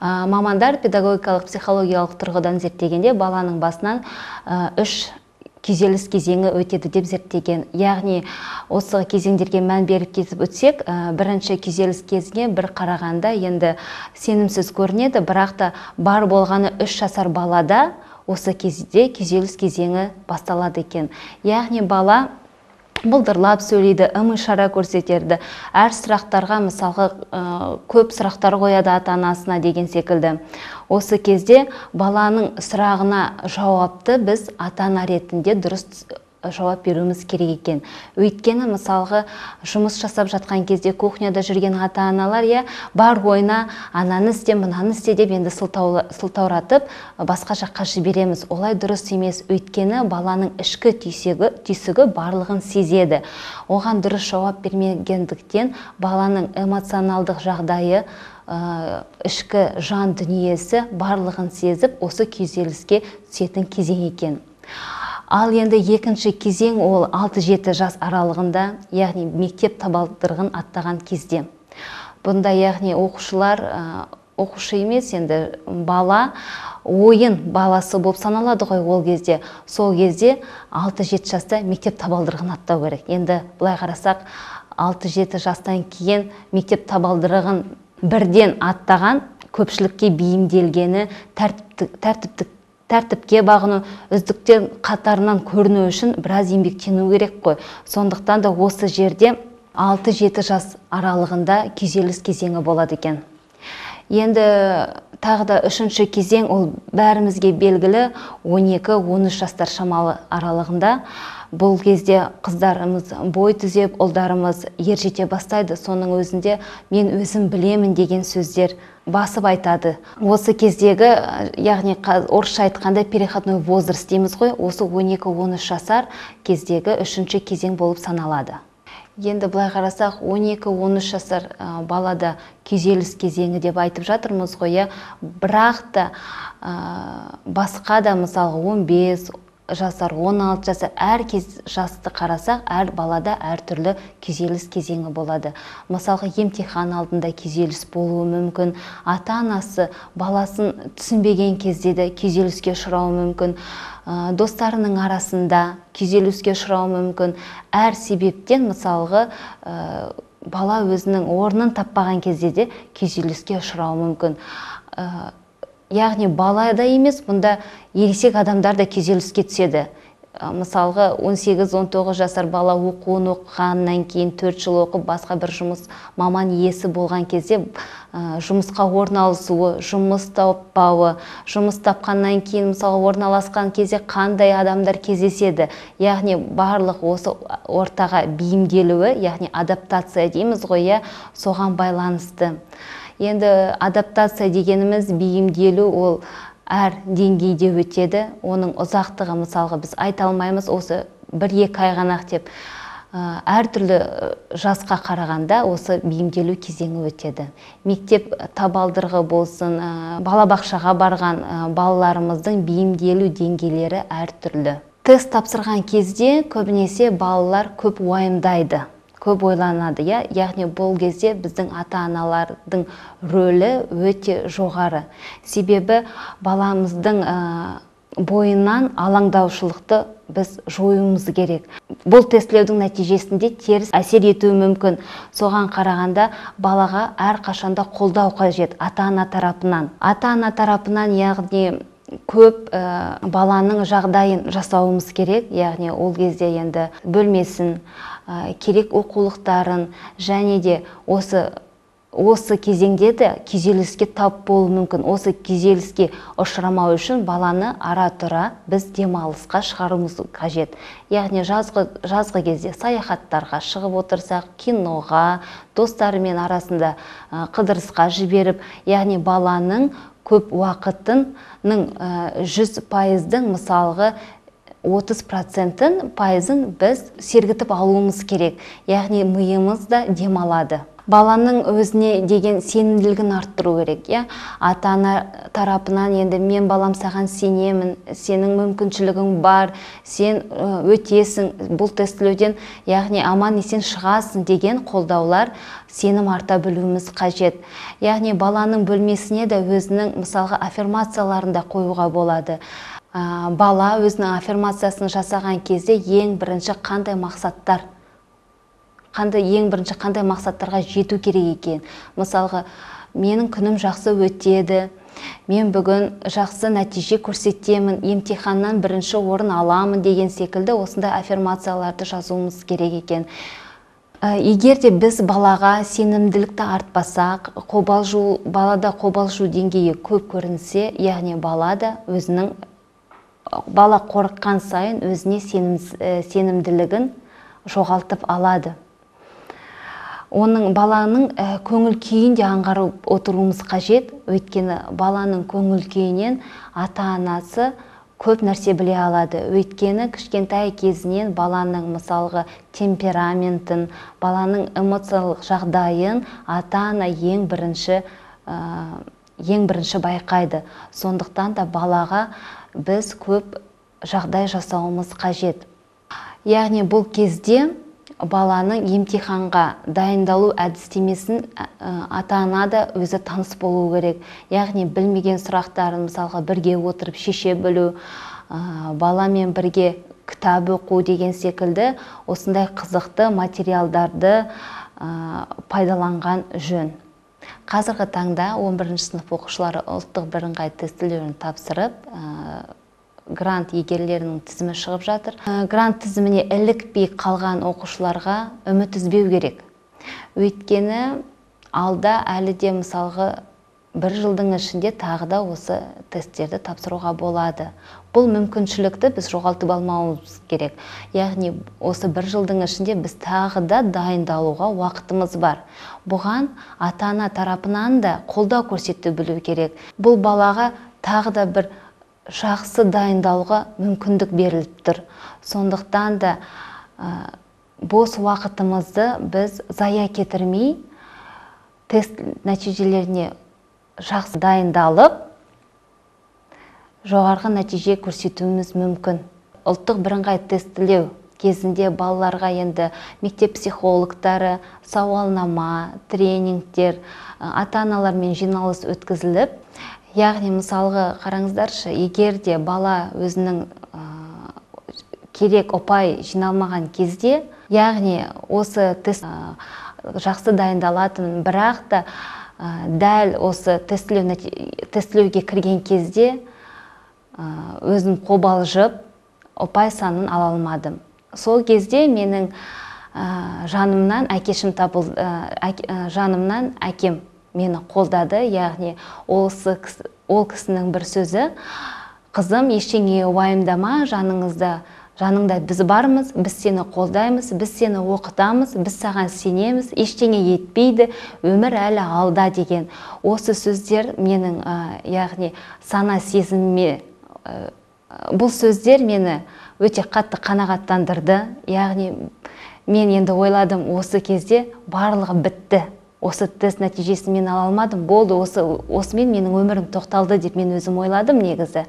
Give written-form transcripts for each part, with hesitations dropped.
Мамандар педагогикалық психологиялық тұрғыдан зерттегенде баланың басынан 3 күйзеліс кезеңі өтеді деп зерттеген. Яғни осы кезеңдерге мән беріп кетіп өтсек, бірінші күйзеліс кезіне бір қарағанда енді сенімсіз көрінеді, бірақ та бар болғаны 3 жасар балада осы кезде күйзеліс кезеңі басталады екен. Яғни бала бұлдырлап сөйлейді, ым-ишара көрсетеді. Әр сұрақтарға мысалға көп сұрақтар қояды ата-анасына деген секілді. Осы кезде баланың сұрағына жауапты біз ата-ана ретінде дұрыс жауап беруіміз керек екен. Өйткені мысалға жұмыс жасап жатқан кезде кухняда жүрген ата-аналар бар ойына ананы істе, мынаны істе деп енді сылтауратып басқа жаққа жібереміз. Олай дұрыс емес. Өйткені баланың ішкі түйсігі барлығын сезеді. Оған дұрыс жауап бермегендіктен баланың эмоционалдық жағдайы, ішкі жан дүниесі барлығын сезіп, осы күйзеліске түсетін кезең екен. Ал енді екінші кезең ол 6-7 жас аралығында, яғни мектеп табалдырығын аттаған кезде. Бұнда яғни оқушы емес, енді бала ойын баласы болып саналады ғой ол кезде. Сол кезде 6-7 жаста мектеп табалдырығын аттау керек. Енді бұлай қарасақ, 6-7 жастан кейін мектеп табалдырығын бірден аттаған, көпшілікке бейімделгені, тәртіпке бағыну, үздіктер қатарынан көріну үшін біраз еңбектену керек қой. Сондықтан да осы жерде 6-7 жас аралығында күйзеліс кезеңі болады екен. Енді тағы да үшінші кезең ол бәрімізге белгілі 12-13 жастар шамалы аралығында. Бұл кезде қыздарымыз бой түзеп, ұлдарымыз ер жете бастайды. Соның өзінде мен өзім білемін деген сөздер басып айтады. Осы кездегі, яғни орысша айтқанда переходной возраст дейміз ғой, осы 12-13 жасар кездегі үшінші кезең болып саналады. Енді былай қарасақ, 12-13 жасар балада күйзеліс кезеңі деп айтып жатырмыз ғой, бірақ та басқа да мысалы 15 жасар, 16 жасар, әр жасты қарасақ, әр балада әр түрлі күйзеліс кезеңі болады. Мысалға емтихан алдында күйзеліс болуы мүмкін, ата-анасы баласын түсінбеген кезде де күйзеліске ұшырауы мүмкін, достарының арасында күйзеліске ұшырауы мүмкін. Әр себептен мысалға бала өзінің орнын таппаған кезде де күйзеліске ұшырауы мүмкін. Яғни балада емес, бұнда ересек адамдар да күйзеліске түседі. Мысалға 18-19 жасар бала оқуын оқығаннан кейін 4 жыл оқып, басқа бір маман иесі болған кезде жұмысқа орналасуы, жұмыс таппауы, жұмыс тапқаннан кейін мысалы орналасқан кезде қандай адамдар кездеседі. Яғни барлық осы ортаға бейімделуі, яғни адаптация дейміз ғой, соған байланысты. Енді адаптация дегеніміз бейімделу, ол әр деңгейде өтеді. Оның ұзақтығы мысалға біз айта алмаймыз, осы 1-2 ай ғана деп. Әр түрлі жасқа қарағанда осы бейімделу кезеңі өтеді. Мектеп табалдырығы болсын, балабақшаға барған балаларымыздың бейімделу деңгейлері әр түрлі. Тест тапсырған кезде көбінесе балалар көп уайымдайды, көп ойланады. Яғни бұл кезде біздің ата-аналардың рөлі өте жоғары. Себебі баламыздың бойынан алаңдаушылықты біз жоюымыз керек. Бұл тестілеудің нәтижесінде теріс әсер етуі мүмкін. Соған қарағанда балаға әр қашанда қолдау қажет ата-ана тарапынан. Ата-ана тарапынан, яғни көп баланың жағдайын жасауымыз керек. Яғни ол кезде енді бөлмесін, керек оқулықтарын, және де осы кезеңде де күйзеліске тап болуы мүмкін. Осы күйзеліске ұшырамау үшін баланы ара-тұра біз демалысқа шығаруымыз қажет. Яғни жазғы кезде саяхаттарға шығып отырсақ, киноға, достарымен арасында қыдырысқа жіберіп, яғни баланың көп уақытының 100%-дің мысалғы 30%-ын біз сергітіп алуымыз керек. Яғни миымыз да демалады. Баланың өзіне деген сенімділігін арттыру керек. Ата-ана тарапынан енді мен балам саған сенемін, сенің мүмкіншілігің бар, сен өтесің бұл тестілеуден, яғни аман есен шығасың деген қолдаулар сенім арта білуіміз қажет. Яғни баланың бөлмесіне де өзінің мысалға аффирмацияларында қоюға болады. Бала өзінің аффирмациясын жасаған кезде ең бірінші қандай мақсаттарға жету керек екен. Мысалға, менің күнім жақсы өтеді, мен бүгін жақсы нәтиже көрсетемін, емтиханнан бірінші орын аламын деген секілді осындай аффирмацияларды жазуымыз керек екен. Егер де біз балаға сенімділікті артпасақ, балада қобалжу деңгейі көп көрінсе, яғни бала қорыққан сайын өзіне сенімділігін жоғалтып алады. Баланың көңіл күйін де аңғарып отыруымыз қажет, өйткені баланың көңіл күйінен ата-анасы көп нәрсе біле алады. Өйткені кішкентай кезінен баланың мысалғы темпераментін, баланың эмоциялық жағдайын ата-ана ең бірінші байқайды. Сондықтан да балаға біз көп жағдай жасауымыз қажет. Яғни бұл кезде баланың емтиханға дайындалу әдістемесін ата-ана да өзі таныс болу керек. Яғни білмеген сұрақтарын мысалға бірге отырып шеше білу, баламен бірге кітап оқу деген секілді осындай қызықты материалдарды пайдаланған жөн. Қазіргі таңда 11-ші сынып оқушылары ұлттық бірыңғай тестілеуін тапсырып, грант егерлерінің тізімі шығып жатыр. Грант тізіміне ілікпей қалған оқушыларға үміт үзбеу керек. Өйткені алда әлі де мысалғы бір жылдың ішінде тағы да осы тесттерді тапсыруға болады. Бұл мүмкіншілікті біз жоғалтып алмауымыз керек. Яғни осы бір жылдың ішінде біз тағы да дайындалуға уақытымыз бар. Бұған ата-ана тарапынан да қолдау көрсете білу керек. Бұл балаға тағы да бір жақсы дайындалуға мүмкіндік беріліп тұр. Сондықтан да бос уақытымызды біз зая кетірмей, тест нәтижелеріне жақсы дайындалып, жоғарғы нәтиже көрсетуіміз мүмкін. Ұлттық бірыңғай тестілеу кезінде балаларға енді мектеп психологтары, сауалнама, тренингтер, ата-аналармен жиналыс өткізіліп, яғни мысалғы қараңыздаршы, егер де бала өзінің керек ұпай жиналмаған кезде, яғни осы тест жақсы дайындалатын, бірақ та дәл осы тестілеуге кірген кезде өзім қобалжып, ұпай санын ала алмадым. Сол кезде менің жанымнан әкем мені қолдады, яғни ол кісінің бір сөзі: қызым, ештеңе уайымдама, жаныңда біз бармыз, біз сені қолдаймыз, біз сені оқытамыз, біз саған сенеміз, ештеңе етпейді, өмір әлі алда деген. Осы сөздер менің яғни сана сезіміме, бұл сөздер мені өте қатты қанағаттандырды. Яғни мен енді ойладым, осы кезде барлығы бітті. Осы тест нәтижесін мен ала алмадым, болды, осымен менің өмірім тоқталды деп мен өзім ойладым негізі.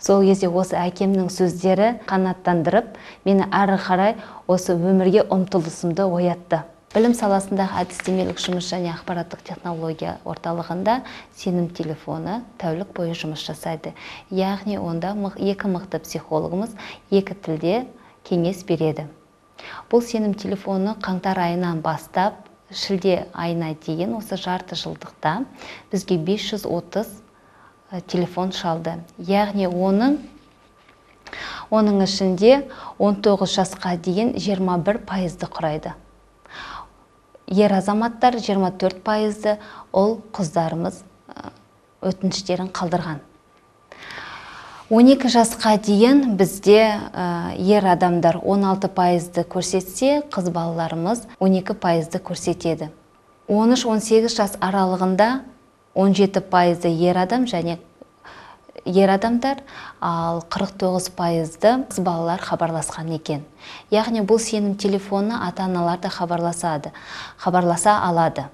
Сол кезде осы әкемнің сөздері қанаттандырып, мені әрі қарай осы өмірге ұмтылысымды оятты. Білім саласындағы әдістемелік жұмыс және ақпараттық технология орталығында сенім телефоны тәулік бойы жұмыс жасайды. Яғни онда екі мықты психологымыз екі тілде кеңес береді. Бұл сенім телефоны қаңтар айынан бастап шілде айына дейін осы жарты жылдықта бізге 530 телефон шалды. Яғни оның ішінде 19 жасқа дейін 21% құрайды. Ер азаматтар 24%, ол қыздарымыз өтініштерін қалдырған. 12 жасқа дейін бізде ер адамдар 16%-ді көрсетсе, қыз балаларымыз 12%-ді көрсетеді. 13-18 жас аралығында 17%-ді ер адам және ер адамдар, ал 49%-ды қыз балалар хабарласқан екен. Яғни бұл сенім телефонына ата-аналар да хабарласа алады.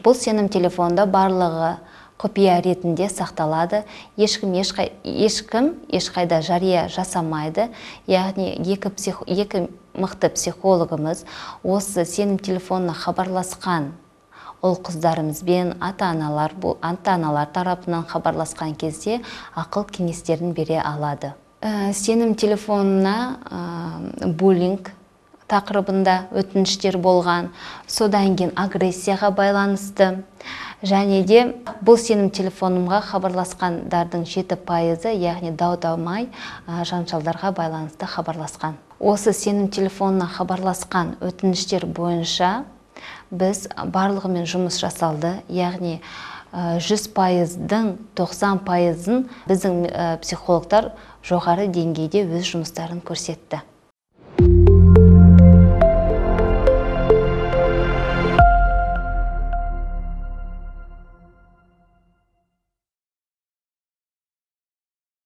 Бұл сенім телефонда барлығы құпия ретінде сақталады. Ешкім ешқайда жария жасамайды. Яғни екі мықты психологымыз осы сенім телефонына хабарласқан ұл-қыздарымызбен ата-аналар тарапынан хабарласқан кезде ақыл кеңестерін бере алады. Сенім телефонына буллинг тақырыбында өтініштер болған, содан кейін агрессияға байланысты, және де бұл сенім телефонымға хабарласқандардың 7%, яғни дау-дамай жанжалдарға байланысты хабарласқан. Осы сенім телефонына хабарласқан өтініштер бойынша біз барлығымен жұмыс жасалды, яғни 100%-дің 90%-ын біздің психологтар жоғары деңгейде өз жұмыстарын көрсетті.